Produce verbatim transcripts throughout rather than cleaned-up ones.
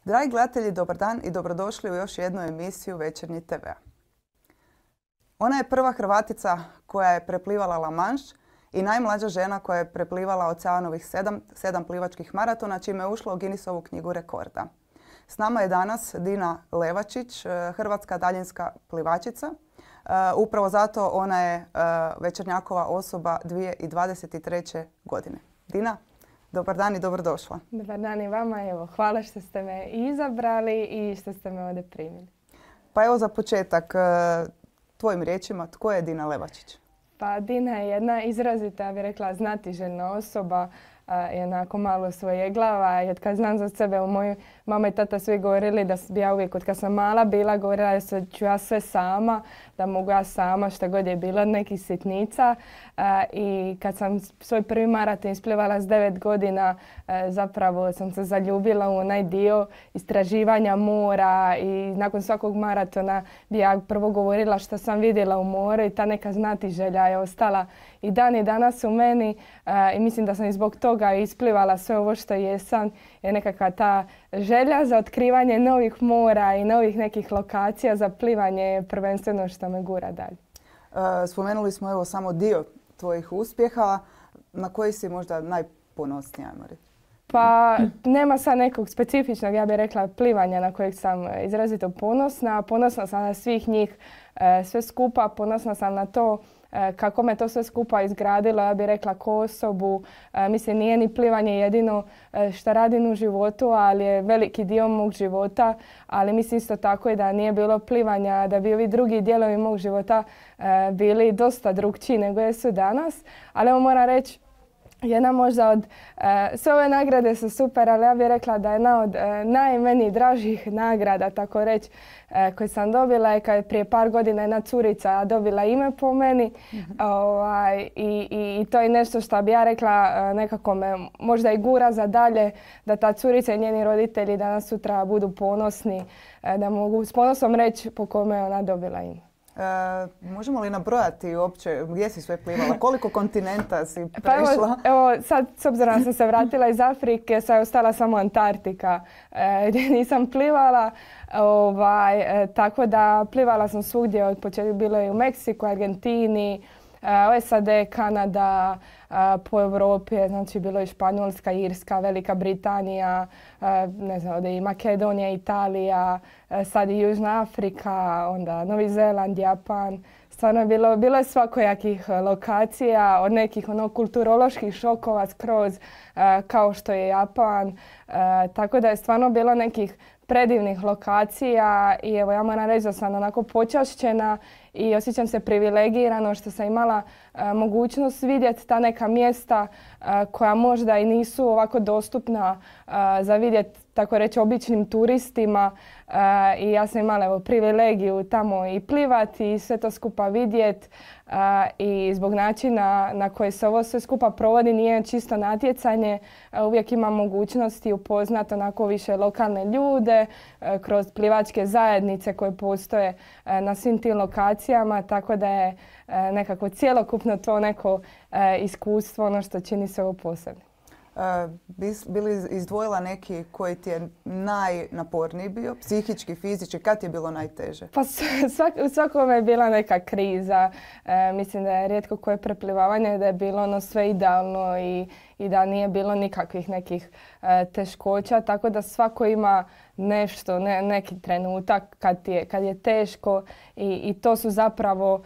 Dragi gledatelji, dobar dan i dobrodošli u još jednu emisiju Večernji te ve. Ona je prva Hrvatica koja je preplivala La Manche i najmlađa žena koja je preplivala oceanovih sedam, sedam plivačkih maratona, čime je ušla u Guinnessovu knjigu rekorda. S nama je danas Dina Levačić, hrvatska daljinska plivačica. Upravo zato ona je večernjakova osoba dvije tisuće dvadeset treće. godine. Dina, dobar dan i dobrodošla. Dobar dan i vama. Evo, hvala što ste me izabrali i što ste me ovdje primili. Pa evo za početak, tvojim riječima, tko je Dina Levačić? Pa Dina je jedna izrazita, ja bih rekla, znatiželjna osoba, je onako malo svojeglava. I od kad znam za sebe, u mojoj mama i tata svi govorili da bi ja uvijek, od kad sam mala bila, govorila da ću ja sve sama, da mogu ja sama što god je bilo od nekih sitnica. I kad sam svoj prvi maraton isplivala s devet godina, zapravo sam se zaljubila u onaj dio istraživanja mora i nakon svakog maratona bi ja prvo govorila što sam vidjela u moru i ta neka znatiželja je ostala i dan i danas u meni i mislim da sam i zbog toga isplivala sve ovo što jesam, je nekakva ta želja za otkrivanje novih mora i novih nekih lokacija za plivanje je prvenstveno što me gura dalje. Spomenuli smo evo samo dio tvojih uspjeha. Na koji si možda najponosnija, Mari? Pa nema sad nekog specifičnog, ja bih rekla, plivanja na kojeg sam izrazito ponosna. Ponosna sam na svih njih sve skupa, ponosna sam na to kako me to sve skupa izgradilo, ja bih rekla, ko osobu. Mislim, nije ni plivanje jedino što radim u životu, ali je veliki dio mog života. Ali mislim isto tako i da nije bilo plivanja, da bi ovi drugi dijelovi mog života bili dosta drukčiji nego jesu danas. Ali evo moram reći, jedna možda od, uh, sve ove nagrade su super, ali ja bih rekla da je jedna od uh, najmeni dražih nagrada, tako reći, uh, koju sam dobila je kad je prije par godina jedna curica dobila ime po meni. Mm-hmm. ovaj, i, i, I to je nešto što bi ja rekla uh, nekako me možda i gura za dalje, da ta curica i njeni roditelji danas sutra budu ponosni, uh, da mogu s ponosom reći po kome je ona dobila ime. E, možemo li nabrojati uopće gdje si sve plivala? Koliko kontinenta si prešla? Pa evo, evo sad, s obzirom da sam se vratila iz Afrike, sad je ostala samo Antarktika e, gdje nisam plivala. Ovaj, e, tako da plivala sam svugdje, od početka bilo je u Meksiku, Argentini, e, S A D, Kanada, e, po Europi, znači bilo je Španjolska, Irska, Velika Britanija, e, ne znam, ovdje i Makedonija, Italija, e, sad i Južna Afrika, onda Novi Zeland, Japan. Stvarno je bilo, bilo je svakojakih lokacija, od nekih ono, kulturoloških šokova skroz, e, kao što je Japan. E, tako da je stvarno bilo nekih predivnih lokacija i evo ja moram reći da sam onako počašćena i osjećam se privilegirano što sam imala e, mogućnost vidjeti ta neka mjesta e, koja možda i nisu ovako dostupna e, za vidjeti, tako reći, običnim turistima. E, I ja sam imala evo, privilegiju tamo i plivati i sve to skupa vidjeti. Uh, I zbog načina na koji se ovo sve skupa provodi nije čisto natjecanje. Uh, uvijek imam mogućnosti upoznati onako više lokalne ljude uh, kroz plivačke zajednice koje postoje uh, na svim tim lokacijama, tako da je uh, nekako cjelokupno to neko uh, iskustvo ono što čini se ovo posebno. Uh, bi li izdvojila neki koji ti je najnaporniji bio, psihički, fizički, kad ti je bilo najteže? Pa svak, u svakome je bila neka kriza. E, mislim da je rijetko koje preplivavanje da je bilo ono sve idealno i, i da nije bilo nikakvih nekih e, teškoća, tako da svako ima nešto, ne, neki trenutak kad je, kad je teško i, i to su zapravo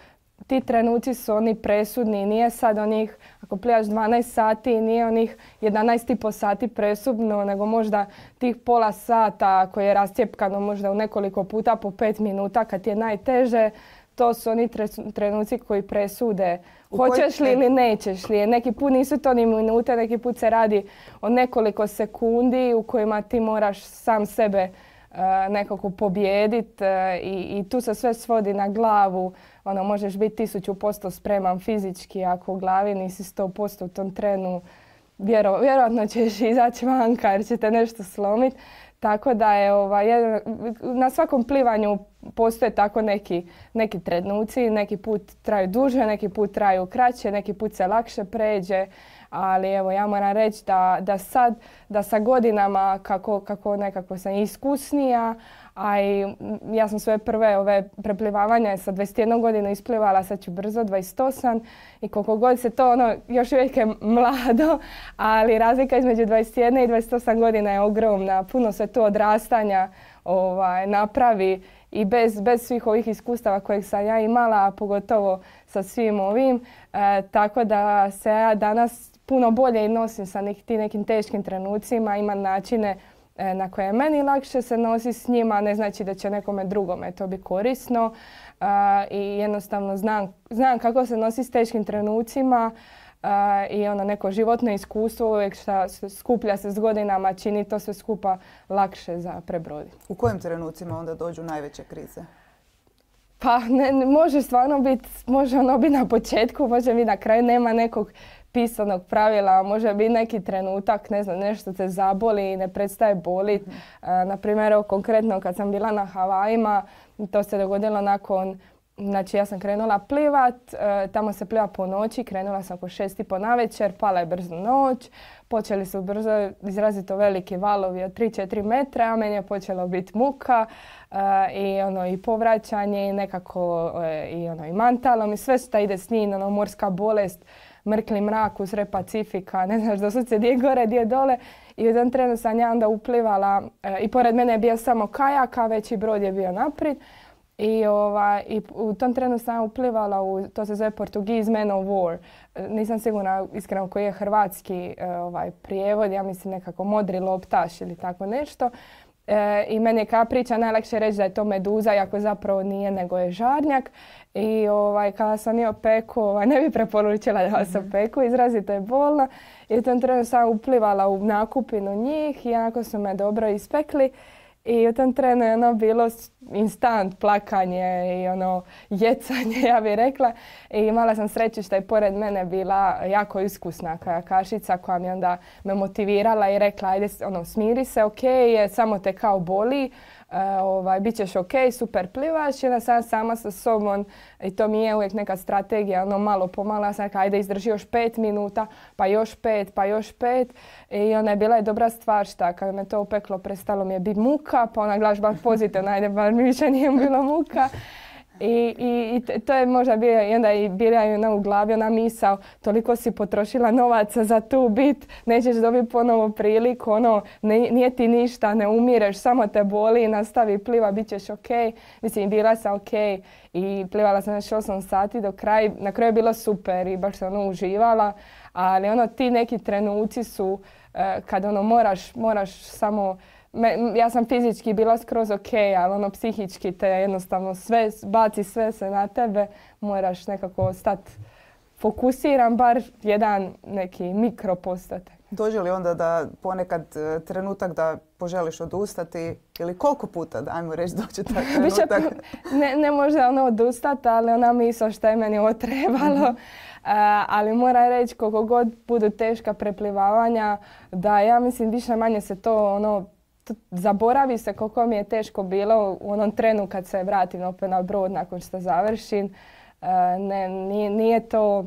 ti trenuci su oni presudni. Nije sad onih, ako plivaš dvanaest sati, nije onih jedanaest i po sati presudno, nego možda tih pola sata koje je rascijepkano možda u nekoliko puta po pet minuta kad ti je najteže. To su oni trenuci koji presude hoćeš li ili nećeš li. Neki put nisu to ni minute, neki put se radi o nekoliko sekundi u kojima ti moraš sam sebe uh, nekako pobijediti uh, i, i tu se sve svodi na glavu. Ono, možeš biti tisuću posto spreman fizički, ako u glavi nisi sto posto u tom trenu, vjero, vjerojatno ćeš izaći vanka jer će te nešto slomiti. tako da je ovaj, na svakom plivanju postoje tako neki, neki trenuci, neki put traju duže, neki put traju kraće, neki put se lakše pređe, ali evo ja moram reći da, da sad, da sa godinama kako, kako nekako sam iskusnija, a i ja sam svoje prve ove preplivavanja sa dvadeset jedna godina isplivala, sad ću brzo dvadeset osam i koliko god se to ono, još uvijek je mlado, ali razlika između dvadeset jedna i dvadeset osam godina je ogromna, puno se tu odrastanja ovaj, napravi i bez, bez svih ovih iskustava kojeg sam ja imala, a pogotovo sa svim ovim, e, tako da se ja danas puno bolje nosim sa nek, tim nekim teškim trenucima, imam načine na koje je meni lakše se nosi s njima, ne znači da će nekome drugome to biti korisno uh, i jednostavno znam, znam kako se nosi s teškim trenucima uh, i ono neko životno iskustvo uvijek šta skuplja se s godinama čini to sve skupa lakše za prebroditi. U kojim trenucima onda dođu najveće krize? Pa ne, ne, može stvarno biti, može ono biti na početku, može biti na kraju, nema nekog pisanog pravila, može biti neki trenutak, ne znam, nešto te zaboli i ne prestaje boliti. Mm. E, na primjer, konkretno kad sam bila na Havajima, to se dogodilo nakon, znači ja sam krenula plivat, e, tamo se pliva po noći, krenula sam oko šest i po navečer, pala je brzo noć, počeli su brzo izrazito veliki valovi od tri do četiri metra, a meni je počelo biti muka e, i ono i povraćanje i nekako e, i ono i mantalom i sve što ide s njim, ono morska bolest, mrkli mrak usred Pacifika, ne znaš doslovce gdje je gore, gdje je dole. I u tom trenu sam ja onda uplivala e, i pored mene je bio samo kajak, a veći brod je bio naprijed. I, ova, i u tom trenu sam uplivala u, to se zove Portuguese Man of War. E, nisam sigurna iskreno koji je hrvatski e, ovaj, prijevod, ja mislim nekako modri loptaš ili tako nešto. E, I meni je kao priča najlakše reći da je to meduza, iako zapravo nije, nego je žarnjak. I ovaj, kada sam je opeku, ovaj, ne bi preporučila da se opeku, izrazito je bolno. I u tom trenu sam uplivala u nakupinu njih i onako su me dobro ispekli. I u tom trenu je ono bilo instant plakanje i ono jecanje, ja bih rekla. I imala sam sreću što je pored mene bila jako iskusna kajakašica koja mi onda me motivirala i rekla ajde ono, smiri se, ok, je, samo te kao boli. Uh, ovaj, bit ćeš ok, super plivaš i onda sam sama sa sobom i to mi je uvijek neka strategija, ono malo pomalo, ja sam rekla ajde izdrži još pet minuta, pa još pet, pa još pet i ona je bila je dobra stvar šta kad me to opeklo prestalo mi je biti muka, pa ona glaš baš pozitivno, ajde bar mi više nije bilo muka. I, i, i to je možda bio, i onda i bila je ona u glavi ona misao, toliko si potrošila novaca za tu bit, nećeš dobiti ponovo priliku, ono, ne, nije ti ništa, ne umireš, samo te boli, nastavi pliva, bit ćeš ok. Mislim, bila sam ok i plivala sam još osam sati do kraja, na kraju je bilo super i baš sam ono uživala, ali ono, ti neki trenuci su eh, kad ono moraš, moraš samo Me, ja sam fizički bila skroz ok, ali ono psihički te jednostavno sve, baci sve se na tebe, moraš nekako stati fokusiran, bar jedan neki mikro postati. Dođe li onda da ponekad trenutak da poželiš odustati ili koliko puta, da ajmo reći, dođe taj trenutak? ne, ne može ono odustati, ali ona misao što je meni ovo trebalo. Mm-hmm. Uh, ali moram reći koliko god budu teška preplivavanja, da ja mislim više manje se to ono zaboravi se koliko mi je teško bilo u onom trenu kad se vratim opet na brod nakon što završim. Uh, ne, nije, nije to,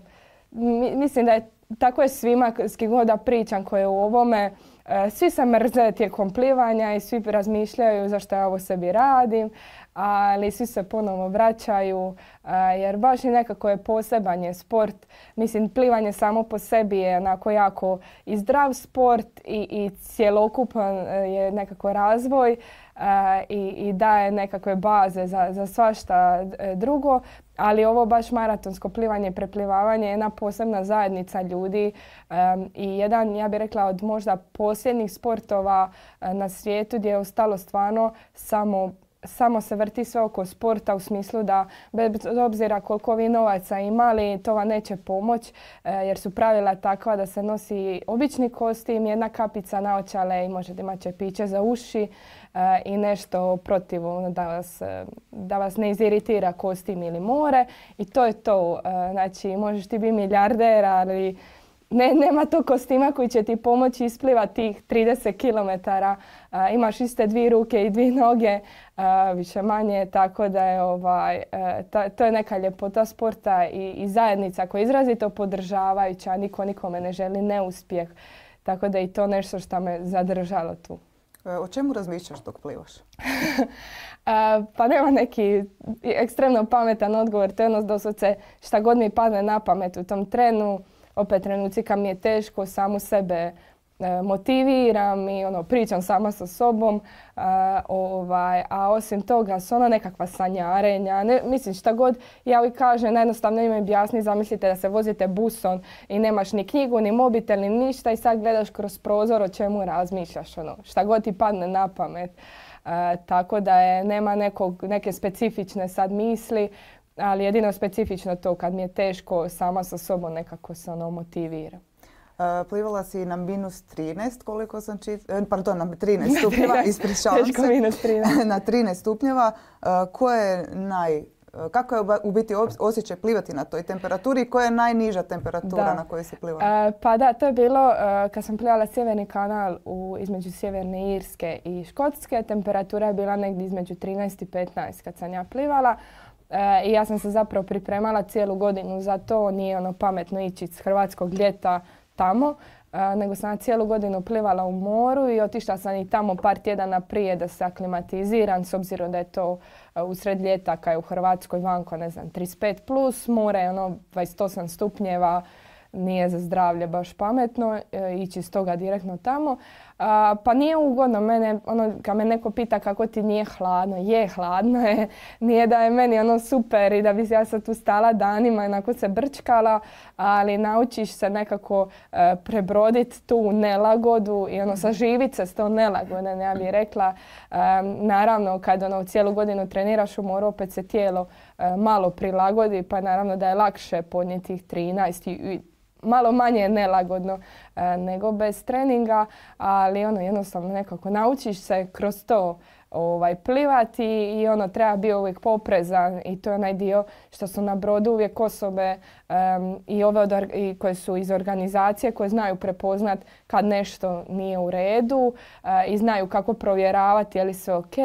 mislim da je tako je svima s kim god da pričam koje je u ovome. Uh, svi se mrze tijekom plivanja i svi razmišljaju zašto ja ovo sebi radim, ali svi se ponovo vraćaju uh, jer baš i nekako je poseban je sport. Mislim, plivanje samo po sebi je onako jako i zdrav sport i, i cjelokupan uh, je nekako razvoj uh, i, i daje nekakve baze za, za svašta drugo. Ali ovo baš maratonsko plivanje i preplivavanje je jedna posebna zajednica ljudi um, i jedan, ja bih rekla, od možda posljednjih sportova uh, na svijetu gdje je ostalo stvarno samo samo se vrti sve oko sporta u smislu da bez obzira koliko vi novaca imali, to vam neće pomoći e, jer su pravila takva da se nosi obični kostim, jedna kapica naočale i možete imati čepiće za uši e, i nešto protiv da vas, da vas ne iziritira kostim ili more i to je to. E, znači možeš ti biti milijarder, ali ne, nema tog kostima koji će ti pomoći isplivati tih trideset kilometara. A, imaš iste dvije ruke i dvije noge, a, više manje, tako da je ovaj, a, ta, to je neka ljepota sporta i, i zajednica koja je izrazito podržavajuća, niko nikome ne želi neuspjeh. Tako da je i to nešto što me zadržalo tu. O čemu razmišljaš dok plivaš? A, pa nema neki ekstremno pametan odgovor. To je ono doslovce šta god mi padne na pamet u tom trenu. Opet trenuci kad mi je teško, samu sebe e, motiviram i ono, pričam sama sa sobom. A, ovaj, a osim toga su ono nekakva sanjarenja. Ne, mislim šta god ja uvijek kažem, najjednostavno im objasni, zamislite da se vozite busom i nemaš ni knjigu, ni mobitel, ni ništa i sad gledaš kroz prozor o čemu razmišljaš. Ono, šta god ti padne na pamet. A, tako da je, nema nekog, neke specifične sad misli, ali jedino specifično to kad mi je teško sama sa sobom nekako se ono motivira. Uh, plivala si na minus trinaest, koliko sam čitala, pardon, na trinaest stupnjeva, ispričavam Teško se. minus trinaest. Na trinaest stupnjeva. Uh, ko je naj, kako je u biti osjećaj plivati na toj temperaturi i koja je najniža temperatura Da. na kojoj si plivala? Uh, pa da, to je bilo uh, kad sam plivala Sjeverni kanal u, između Sjeverne Irske i Škotske. Temperatura je bila negdje između trinaest i petnaest kad sam ja plivala. E, I ja sam se zapravo pripremala cijelu godinu za to. Nije ono pametno ići iz hrvatskog ljeta tamo, e, nego sam cijelu godinu plivala u moru i otišla sam i tamo par tjedana prije da se aklimatiziram, s obzirom da je to e, usred ljeta kad je u Hrvatskoj vanko, ne znam, trideset pet plus, more je ono dvadeset osam stupnjeva, nije za zdravlje baš pametno e, ići iz toga direktno tamo. A, pa nije ugodno mene, ono, kad me neko pita kako ti nije hladno, je hladno je, nije da je meni ono super i da bi ja sad tu stala danima i onako se brčkala, ali naučiš se nekako e, prebroditi tu nelagodu i ono saživit se s tom nelagodom, ja bih rekla. E, naravno, kad ono cijelu godinu treniraš u moru, opet se tijelo e, malo prilagodi, pa naravno da je lakše podnijeti tih trinaest i malo manje je nelagodno e, nego bez treninga, ali ono jednostavno nekako naučiš se kroz to ovaj, plivati i ono treba biti uvijek poprezan i to je onaj dio što su na brodu uvijek osobe um, i ove od, i koje su iz organizacije koje znaju prepoznat kad nešto nije u redu uh, i znaju kako provjeravati je li sve ok.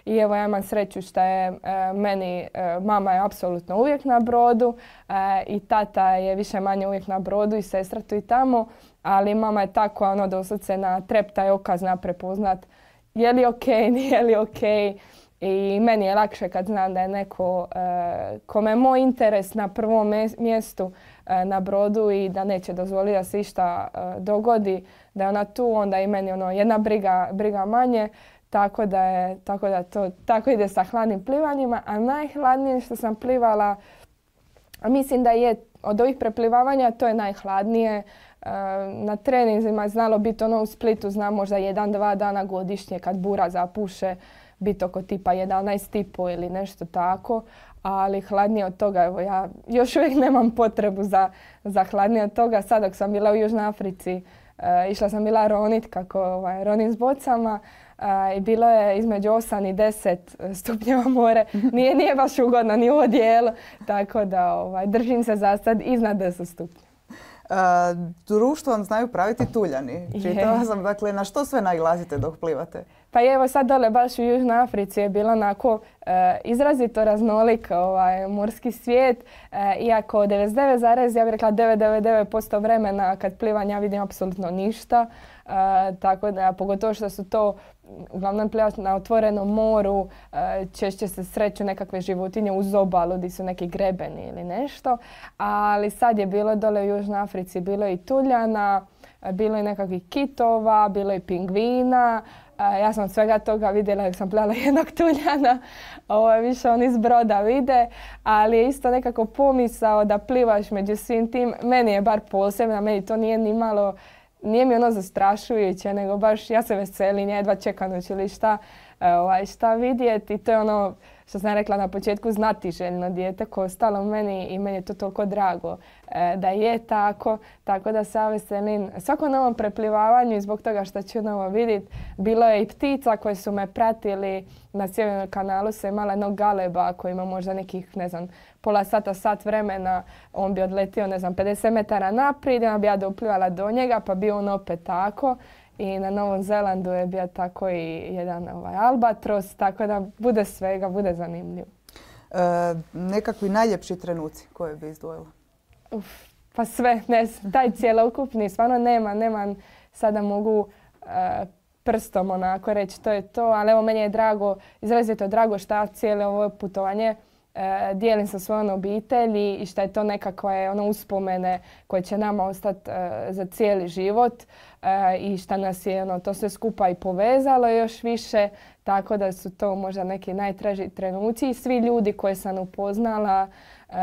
I evo ja imam sreću što je uh, meni, uh, mama je apsolutno uvijek na brodu uh, i tata je više manje uvijek na brodu i sestra tu i tamo, ali mama je tako ono doslovce na treptaj oka zna prepoznat je li ok, nije li ok. I meni je lakše kad znam da je neko uh, kome je moj interes na prvom mjestu uh, na brodu i da neće dozvoliti da se išta uh, dogodi, da je ona tu, onda i meni ono jedna briga, briga manje. Tako da je, tako da to tako ide sa hladnim plivanjima. A najhladnije što sam plivala, a mislim da je od ovih preplivavanja to je najhladnije. Na treninzima je znalo biti ono u Splitu, znam možda jedan, dva dana godišnje kad bura zapuše, biti oko tipa jedanaest i pol ili nešto tako, ali hladnije od toga, evo ja još uvijek nemam potrebu za, za hladnije od toga. Sad dok sam bila u Južnoj Africi, uh, išla sam bila ronit, kako ovaj, ronim s bocama uh, i bilo je između osam i deset stupnjeva more. Nije, nije baš ugodno ni u odijelu, tako da ovaj, držim se za sad iznad deset stupnjeva. Uh, društvo vam znaju praviti tuljani. Čitala sam, dakle, na što sve nailazite dok plivate? Pa evo sad dole baš u Južnoj Africi je bilo onako e, izrazito raznolik ovaj, morski svijet. E, iako devedeset devet zarez ja bih rekla devet devet devet posto vremena kad plivam ja vidim apsolutno ništa. E, tako da pogotovo što su to uglavnom plivati na otvorenom moru, e, češće se sreću nekakve životinje uz obalu gdje su neki grebeni ili nešto. Ali sad je bilo dole u Južnoj Africi, bilo i tuljana, bilo i nekakvih kitova, bilo i pingvina. Uh, ja sam od svega toga vidjela jer sam plivala jednog tuljana, ovo je više on iz broda vide, ali je isto nekako pomisao da plivaš među svim tim. Meni je bar posebno, meni to nije ni malo, nije mi ono zastrašujuće, nego baš ja se veselim, jedva čekam ili šta, uh, ovaj, šta vidjeti. To je ono što sam rekla na početku, znatiželjno dijete koje je ostalo meni i meni je to toliko drago e, da je tako. Tako da se ja veselim svakom novom preplivavanju i zbog toga što ću novo vidjeti. Bilo je i ptica koje su me pratili. Na Sjevernom kanalu se imala jednog galeba koji ima možda nekih, ne znam, pola sata, sat vremena. On bi odletio, ne znam, pedeset metara naprijed, onda bi ja doplivala do njega, pa bi on opet tako. I na Novom Zelandu je bio tako i jedan ovaj, albatros, tako da bude svega, bude zanimljivo. E, nekakvi najljepši trenuci koje bi izdvojila? Uf, pa sve, ne znam, taj cjelokupni, stvarno nema, nema, sada mogu e, prstom onako reći to je to, ali evo meni je drago, izrazito drago što ja cijelo ovo putovanje e, dijelim sa svojom obitelji i što je to nekakve ono, uspomene koje će nama ostati e, za cijeli život e, i što nas je ono, to sve skupa i povezalo još više, tako da su to možda neki najtraži trenuci i svi ljudi koje sam upoznala, e,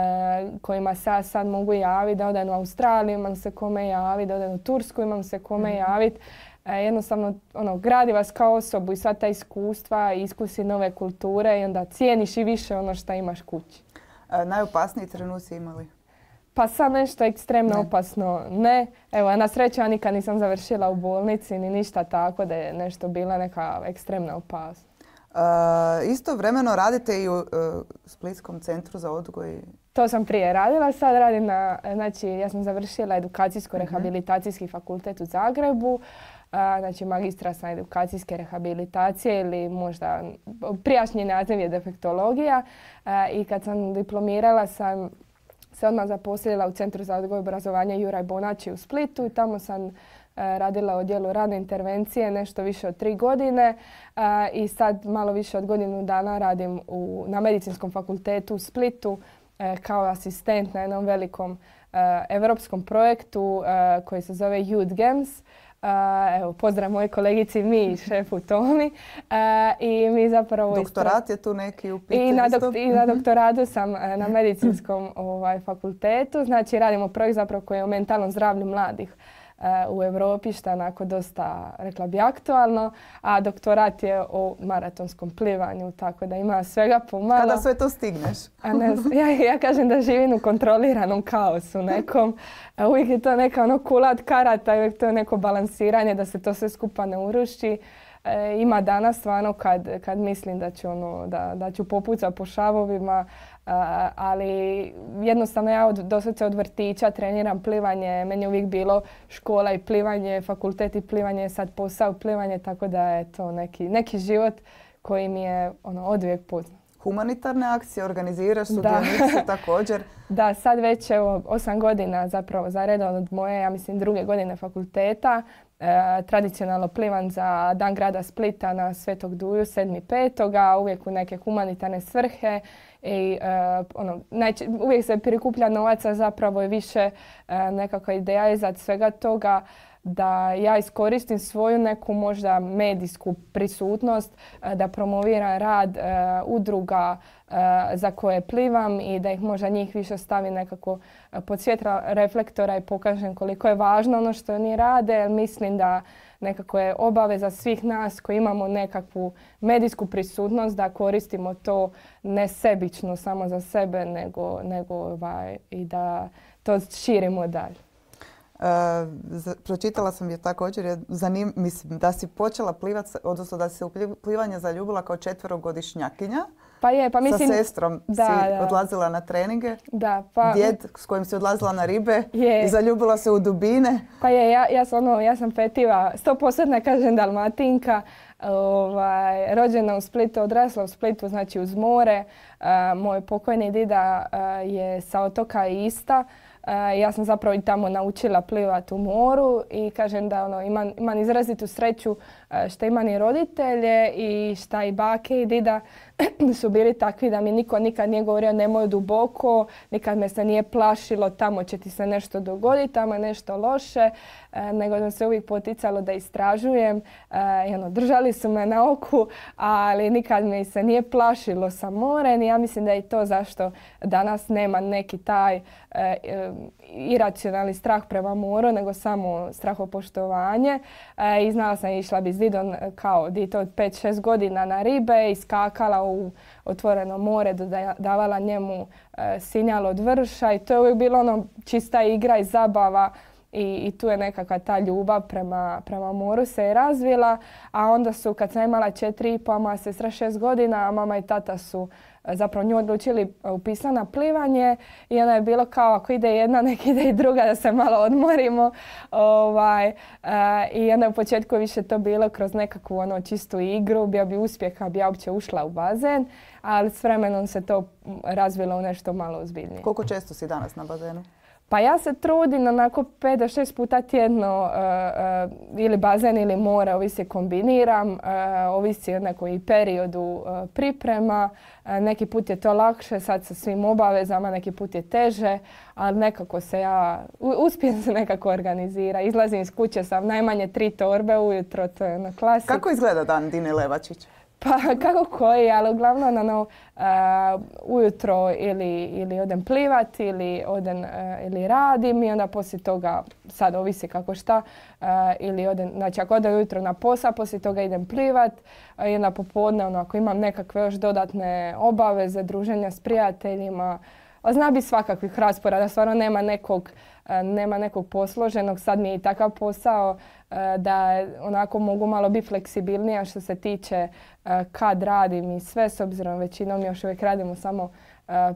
kojima se ja sad mogu javiti, da odem u Australiju, imam se kome javiti, da odem u Tursku, imam se kome javiti. E, jednostavno ono, gradi vas kao osobu i sva ta iskustva i iskusi nove kulture i onda cijeniš i više ono što imaš kući. E, najopasniji trenuci imali? Pa sad nešto ekstremno ne. opasno ne. Evo, na sreću ja nikad nisam završila u bolnici ni ništa tako da je nešto bila neka ekstremna opasnost. E, istovremeno radite i u e, Splitskom centru za odgoj? To sam prije radila, sad radim na, znači ja sam završila edukacijsko-rehabilitacijski fakultet u Zagrebu. A, znači magistra sam edukacijske rehabilitacije ili možda prijašnji naziv je defektologija. A, I kad sam diplomirala sam se odmah zaposlila u Centru za odgoj i obrazovanje Juraj Bonači u Splitu i tamo sam a, radila u odjelu radne intervencije nešto više od tri godine a, i sad malo više od godinu dana radim u, na Medicinskom fakultetu u Splitu a, kao asistent na jednom velikom a, evropskom projektu a, koji se zove Youth Games. Uh, evo, pozdrav mojoj kolegici Mi i šefu Tomi. Uh, I mi zapravo... Doktorat je tu neki u pitanju? I na, dok, i na doktoratu sam uh, na medicinskom ovaj, fakultetu. Znači radimo projekt zapravo koji je o mentalnom zdravlju mladih uh, u Europi, što je onako dosta, rekla bi, aktualno. A doktorat je o maratonskom plivanju, tako da ima svega pomalo. Kada sve to stigneš? A ne, ja, ja kažem da živim u kontroliranom kaosu nekom. Uvijek je to neka ono kula od karata i uvijek to je neko balansiranje da se to sve skupa ne uruši. E, ima dana stvarno kad, kad mislim da ću, ono, da, da ću popucati po šavovima, a, ali jednostavno ja od, doslovce od vrtića treniram plivanje. Meni je uvijek bilo škola i plivanje, fakultet i plivanje, sad posao plivanje, tako da je to neki, neki život koji mi je ono, odvijek poznat. Humanitarne akcije organiziraš, sudionici također. Da, sad već evo, osam godina zapravo za redom od moje, ja mislim, druge godine fakulteta. E, tradicionalno plivam za Dan grada Splita na Svetog Duju, sedmi petoga, uvijek u neke humanitarne svrhe. I, e, ono, najče, uvijek se prikuplja novaca, zapravo je više e, nekakva ideja iza svega toga da ja iskoristim svoju neku možda medijsku prisutnost, da promoviram rad e, udruga e, za koje plivam i da ih možda njih više stavi nekako pod svjetla reflektora i pokažem koliko je važno ono što oni rade. Jer mislim da nekako je obaveza svih nas koji imamo nekakvu medijsku prisutnost da koristimo to ne sebično samo za sebe, nego, nego ovaj, i da to širimo dalje. Uh, pročitala sam je također, je zanim, mislim da si počela plivati, odnosno da si se u plivanje zaljubila kao četverogodišnjakinja. Pa je, pa mislim... Sa sestrom da, si da. odlazila na treninge. Da, pa... Djed s kojim si odlazila na ribe je. I zaljubila se u dubine. Pa je, ja, ja, sam, ono, ja sam fetiva, sto posto ne kažem Dalmatinka, ovaj, rođena u Splitu, odrasla u Splitu, znači uz more. Uh, moj pokojni dida uh, je sa otoka Ista. Uh, ja sam zapravo i tamo naučila plivati u moru i kažem da ono, imam, imam izrazitu sreću uh, što imam i roditelje i šta i bake i dida su bili takvi da mi niko nikad nije govorio nemoj duboko, nikad me se nije plašilo tamo će ti se nešto dogoditi, tamo je nešto loše, uh, nego da se uvijek poticalo da istražujem. Uh, i ono, držali su me na oku, ali nikad me se nije plašilo sa morem i ja mislim da je to zašto danas nema neki taj uh, iracionalni strah prema moru, nego samo strahopoštovanje. E, I znala sam, išla bi s didom kao dito od pet šest godina na ribe i skakala bacila u otvoreno more, dodavala njemu e, sinjal od vrša i to je uvijek bilo ono čista igra i zabava. I, i tu je nekakva ta ljubav prema, prema moru se je razvila, a onda su kad sam imala četiri i po, mama sestra šest godina, a mama i tata su zapravo nju odlučili upisati na plivanje i onda je bilo kao ako ide jedna, nek ide i druga da se malo odmorimo. Ovaj, uh, I onda u početku više to bilo kroz nekakvu ono, čistu igru, bio bi uspjeh, bi ja uopće ušla u bazen, ali s vremenom se to razvilo u nešto malo ozbiljnije. Koliko često si danas na bazenu? Pa ja se trudim onako pet do šest puta tjedno uh, uh, ili bazen ili more, ovisi kombiniram, uh, ovisi o nekoj periodu uh, priprema. Uh, neki put je to lakše, sad sa svim obavezama, neki put je teže, ali nekako se ja, uspijem se nekako organizira. Izlazim iz kuće sa najmanje tri torbe ujutro, to je na klasik. Kako izgleda dan Dine Levačić? Pa kako koji, ali uglavnom ono, uh, ujutro ili, ili odem plivat ili, odem, uh, ili radim i onda poslije toga, sad ovisi kako šta, uh, ili odem, znači ako odem ujutro na posao, poslije toga idem plivat uh, i onda popodne ono, ako imam nekakve još dodatne obaveze, druženja s prijateljima, a zna bi svakakvih rasporeda, stvarno nema nekog, uh, nema nekog posloženog, sad mi je i takav posao da onako mogu malo biti fleksibilnija što se tiče uh, kad radim i sve, s obzirom većinom još uvijek radimo samo uh,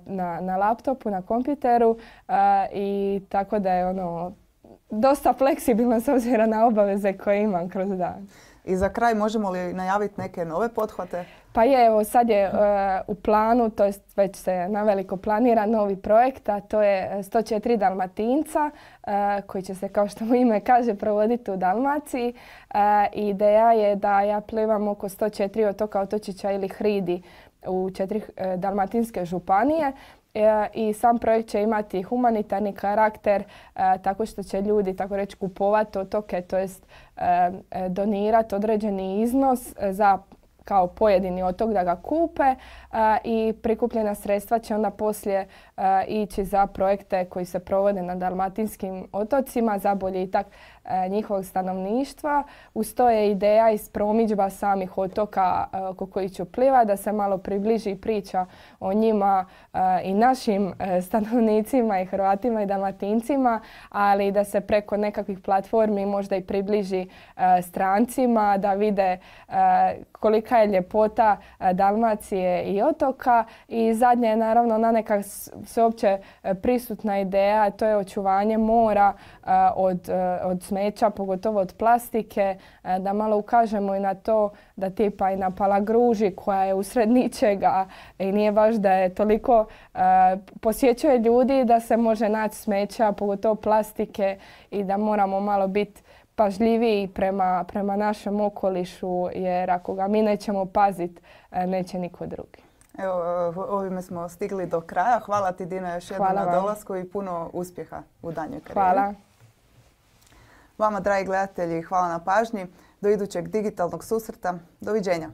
na, na laptopu, na kompjuteru uh, i tako da je ono dosta fleksibilno s obzirom na obaveze koje imam kroz dan. I za kraj možemo li najaviti neke nove pothvate? Pa je, evo sad je uh, u planu, to jest već se naveliko planira novi projekt, a to je sto četiri Dalmatinca uh, koji će se, kao što mu ime kaže, provoditi u Dalmaciji. Uh, ideja je da ja plivam oko sto četiri otoka, otočića ili hridi u četiri uh, dalmatinske županije. I sam projekt će imati humanitarni karakter uh, tako što će ljudi, tako reći, kupovati otoke, to jest uh, donirati određeni iznos za kao pojedini otok da ga kupe uh, i prikupljena sredstva će onda poslije uh, ići za projekte koji se provode na dalmatinskim otocima za boljitak uh, njihovog stanovništva. Uz to je ideja iz promidžba samih otoka uh, oko kojih ću pliva, da se malo približi priča o njima uh, i našim uh, stanovnicima i Hrvatima i Dalmatincima, ali da se preko nekakvih platformi možda i približi uh, strancima, da vide uh, kolika je ljepota uh, Dalmacije i otoka. I zadnje je naravno na neka sveopće uh, prisutna ideja, to je očuvanje mora uh, od, uh, od smeća, pogotovo od plastike, uh, da malo ukažemo i na to da tipa i na Palagruži koja je usred ničega i nije baš da je toliko uh, posjećuje ljudi da se može naći smeća, pogotovo plastike i da moramo malo biti pažljiviji prema, prema našem okolišu, jer ako ga mi nećemo paziti, neće niko drugi. Evo, ovime smo stigli do kraja. Hvala ti, Dina, još jednom na dolasku i puno uspjeha u daljnjoj karijeri. Hvala. Vama, dragi gledatelji, hvala na pažnji. Do idućeg digitalnog susreta. Doviđenja.